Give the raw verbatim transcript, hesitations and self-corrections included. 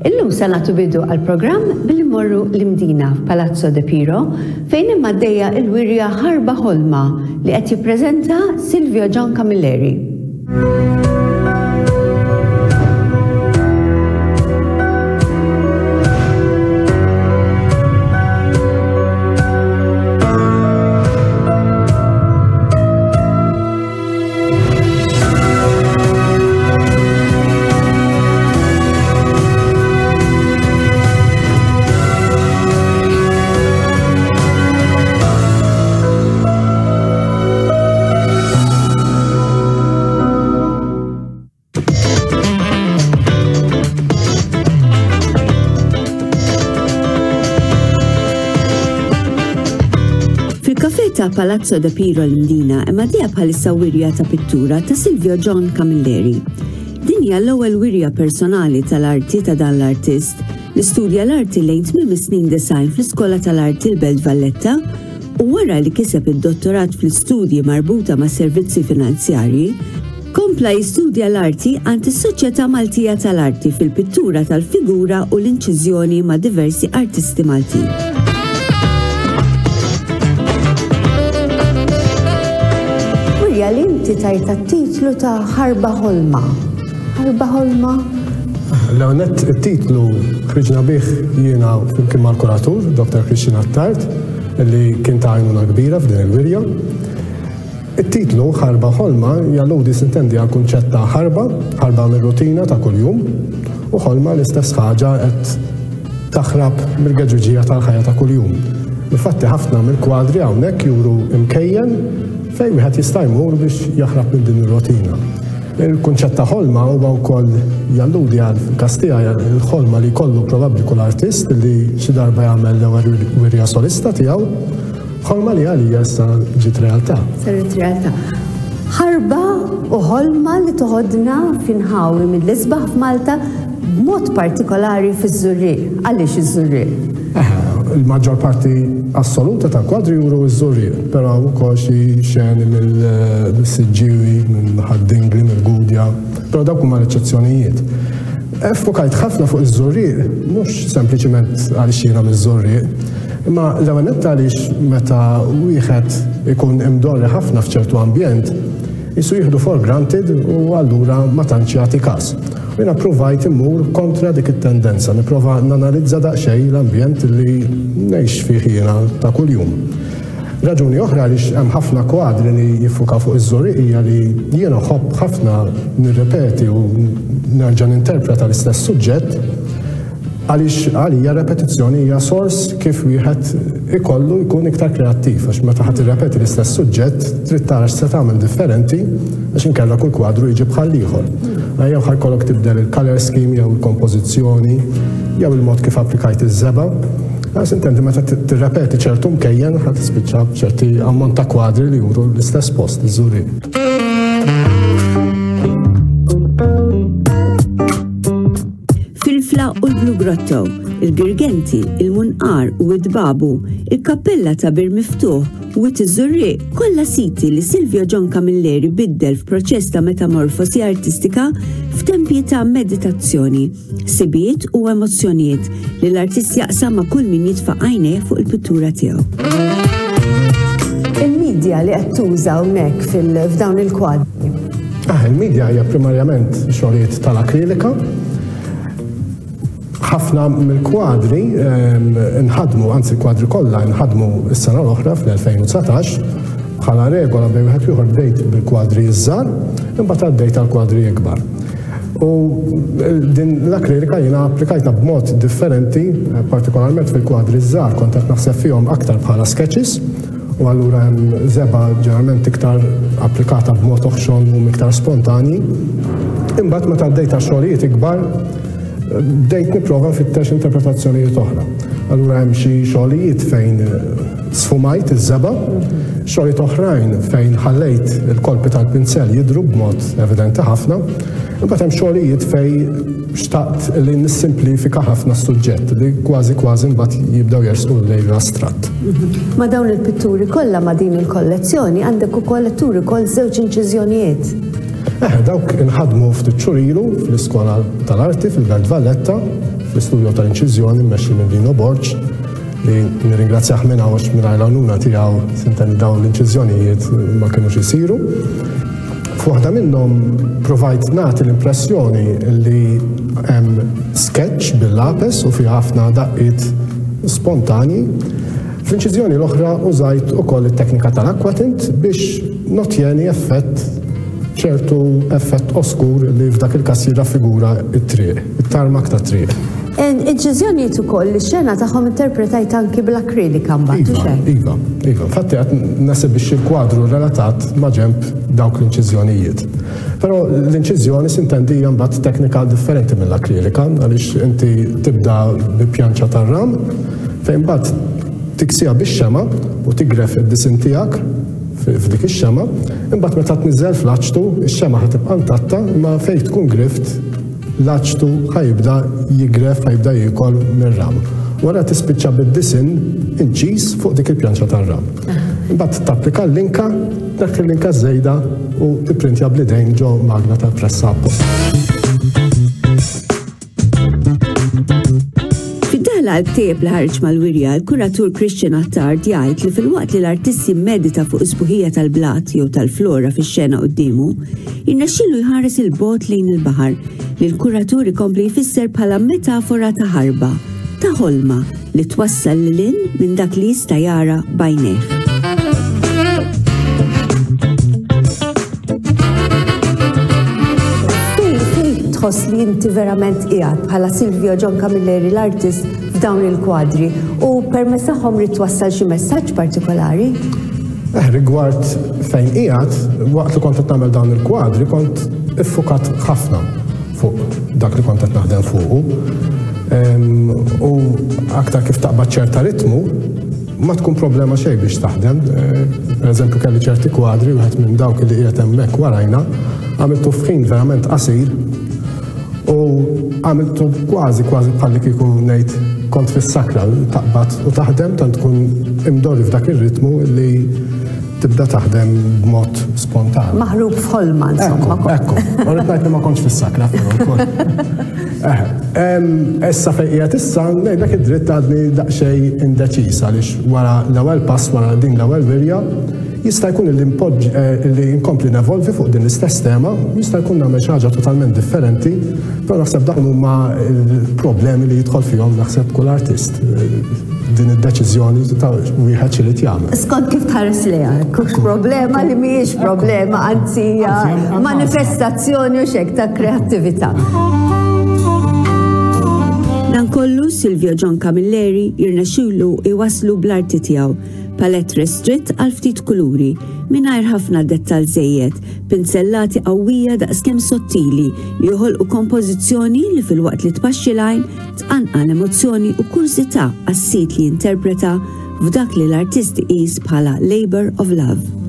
Illum se nagħtu bidu għall-programm billi mmorru l-Imdina f'Palazzo De Piro fejn hemm għaddejja l-wirja Ħarba Ħolma li qed jippreżenta Silvio John Camilleri. Fil-kafè ta' Palazzo De Piro l-Imdina hemm għaddejja bħalissa wirja ta' pittura ta' Silvio John Camilleri. Din hija l-ewwel wirja personali tal-arti ta' dan l-artist li studja l-arti lejn tmiem is-snin design fl-Iskola tal-Arti l-Belt Valletta u wara li kiseb id-dottorat fl-istudji marbuta ma' servizzi finanzjarji, kompla jistudja l-arti għand is-Soċjetà Maltija tal-Arti fil-pittura tal-figura u l-inċiżjoni ma' diversi artisti Maltin. Wirja li inti tajta titlu ta' Ħarba Ħolma. Ħarba Ħolma? L-għonet it-titlu ħriġna bih jiena flimkien mal-kuratur, Doktor Christian Attard, li kien ta' għajnuna kbira f'din il-wirja. It-titlu Ħarba Ħolma jalludi sintendi għal kunċett ta' ħarba, ħarba mir-rutina ta' kuljum, u ħolma l-istess ħaġa qed taħrab mill-geġuġija tal-ħajja ta' kuljum. Infatti ħafna mill-kwadri hawnhekk juru imkejjen fejn wieħed jista' jmur biex jaħrab minn din ir-rutina. Il-kunċett ta' ħolma huwa wkoll jalludi għal każ tiegħi il-ħolma li jkollu probabbli kull artist li xi darba jagħmel l-ewwel wirja solista tiegħu, ħolma li għalija issa ġiet realtà. Saret realtà. Ħarba u ħolma li toħodna f'inħawi mill-isbaħ f'Malta b'mod partikolari fiż-Żurrieq. Għaliex iż-Żurrieq? Il-maġġor parti assoluta tal-kwadri juru ż-Żurrieq, però wkoll xi xeni mill-Siġġiewi, minn Ħad-Dingli, mill-Gudja, però dawk huma l-eċċezzjonijiet. Fokajt ħafna fuq iż-Żurrieq, mhux sempliċiment għaliex jiena miż-Żurrieq, imma l-ewwel nett għaliex meta wieħed ikun imdorri ħafna f'ċertu ambjent, jisu jieħdu for granted u allura ma tantx jagħti każ. Jiena provajt immur kontra dik it-tendenza, nipprova nanalizza daqsxejn l-ambjent li ngħix fih jiena ta' kuljum. Raġuni oħra għaliex hemm ħafna kwadri li jiffukaw fuq iż-Żurrieq hija li jiena nħobb ħafna nirrepeti u nerġa' ninterpreta l-istess suġġett għaliex għalija repetizzjoni hija sors kif wieħed ikollu jkun iktar kreattiv, għax meta ħadd irrepeti l-istess suġġett trid tara x'se tagħmel differenti għax inkella kull kwadru jiġi bħal ieħor. Jew ħajkollok tibdel il-color scheme jew il-kompożizzjoni jew il-mod kif applikajt iż-żebgħa. Għax intendi meta tirrepeti ċertu mkejjen ħadd tispiċċa b'ċerti ammont ta' kwadri li juru l-istess post iż-Żurrieq. Filfla u l-Blue Grotto, il-Girgenti, il-Munqar u id-Babu, il-Kappella ta' Bir Miftuħ u iż-Żurrieq, kollha siti li Silvio John Camilleri biddel f'proċess ta' metamorfosi artistika f'tempji ta' meditazzjoni, sibiet u emozzjonijiet li l-artist jaqsam ma' kull min jitfa' għajnejh fuq il-pittura tiegħu. Il-medja li qed tuża hawnhekk f'dawn il-kwadri. Ah, il-medja hija primarjament xogħlijiet tal-akrilika. Ħafna mill-kwadri nħadmu, anzi l-kwadri kollha nħadmu s-sena l-oħra fl-elfejn u dsatax, bħala regola bejn wieħed u ieħor bdejt bil-kwadri iż-żgħar, imbagħad għaddejt għal kwadri ikbar. U din l-akrilika jiena applikajtha b'mod differenti, partikolarment fil-kwadri iż-żgħar kont qed naħseb fihom aktar bħala sketches, u allura hemm żebgħa ġeneralment iktar applikata b'mod oħxon u iktar spontani. Imbagħad meta għaddejt għal xogħlijiet ikbar, bdejt nipprova nfittex interpretazzjonijiet oħra. Allura hemm xi xogħlijiet fejn sfumajt iż-żebgħa, xogħlijiet oħrajn fejn ħallejt il-kolpi tal-pinsel jidhru b'mod evidenti ħafna, imbagħad hemm xogħlijiet fejn xtaqt li nissimplifika ħafna s-suġġett li kważi kważi mbagħad jibdew jersqu lejn l-astratt. Ma' dawn il-pitturi kollha ma' din il-kollezzjoni għandek ukoll turi wkoll żewġ inċiżjonijiet. Eh, dawk inħadmu ftit xhur ilu fl-Iskola tal-Arti fil-Belt Valletta, fl-istudio tal-inċiżjoni mmexxi minn Dino Borg, li nirringrazzjah minn hawn għax mingħajr l-għajnuna tiegħu s'intendi dawn l-inċiżjonijiet ma kinux isiru. F'waħda minnhom provajt nagħti l-impressjoni li hemm sketch bil-lapes u fi ħafna daqqiet spontani. Fl-inċiżjoni l-oħra użajt ukoll it-teknika tal-aquatint biex nottjeni effett, ċertu effett oskur li f'dak il-każ jirraffigura it-triq, it-tarmak ta' triq. Inċiżjonijiet ukoll li xena tagħhom interpretajt anki bl-akrilika mbagħad. Iva, iva, iva. Infatti qed nesibixxi l-kwadru relatat ma' ġenb dawk l-inċiżjonijiet. Però l-inċiżjoni s'intendi hija mbagħad teknika differenti mill-akrilika, għaliex inti tibda bi pjanċa tar-ram fejn mbagħad tiksija bix-xema u tigref id-disin tiegħek f'dik ix-xema, imbagħad meta tniżel fl-aċtu, ix-xema ħa tibqa' intatta, imma fejn tkun grift l-aċtu ħa jibda jigref, ħa jibda jiekol mir-ram. Wara tispiċċa bid-disin inċiż fuq dik il-pjanċa tar-ram. Imbagħad tapplika l-linka, dak il-linka żejda u tipprintja bl-idejn ġo magna tal-pressa apposta. Fid-daħla għall-ktieb li ħareġ mal-wirja, il-kuratur Christian Attard jgħid li filwaqt li l-artist jimmedita fuq is-sbuħija tal-blat jew tal-flora fix-xena quddiemu, jirnexxielu jħares il-bogħod lejn il-baħar, li l-kuratur ikompli jfisser bħala metafora ta' ħarba, ta' ħolma li twassal lil hinn minn dak li jista' jara b'għajnejh. Tħoss li inti verament qiegħed bħala Silvio John Camilleri l-artist f'dawn il-kwadri u permezz tagħhom rid twassal xi messaġġ partikolari? Eh, rigward fejn qiegħed, waqt li kont qed nagħmel dawn il-kwadri kont iffukat ħafna fuq dak li kont qed naħdem fuqu. Em, u aktar kif taqbad ċerta ritmu, ma tkun problema xejn biex taħdem. Eh, per eżempju kelli ċerti kwadri, wieħed minn dawk li qiegħed hemmhekk warajna, għamiltu f'ħin verament qasir u għamiltu kważi kważi bħalli kieku ngħid kont fis-sakra, taqbad u taħdem, tant tkun imdorri f'dak ir-ritmu li tibda taħdem b'mod spontan. Maħrub f'ħolma, insomma. Ekku, ekku. U rrid ngħid li ma kontx fis-sakra, però wkoll. Eh, em, issa fejn qiegħed issa, ngħidlek id-dritt għadni daqsxejn indeċiż għaliex wara l-ewwel pass, wara din l-ewwel wirja, jista' jkun li npoġġ, eh, li nkompli nevolvi fuq din l-istess tema, jista' jkun nagħmel xi ħaġa totalment differenti, però naħseb dawn huma l-problemi li jidħol fihom naħseb kull artist. Din id-deċiżjoni ta' wieħed xi li jagħmel. Skont kif tħares lejha, kux problema li mhijiex problema, anzi hija manifestazzjoni u xek ta' kreattività. Dan kollu Silvio John Camilleri jirnexxielu iwasslu bl-arti tiegħu, palett restritt għal ftit kuluri, mingħajr ħafna dettal żejjed, pinzellati qawwija daqskemm sottili li joħolqu kompożizzjoni li filwaqt li tpaxxi l-għajn tqanqal emozzjoni u kurżità għas-sit li jinterpreta f'dak li l-artist iqis bħala labor of love.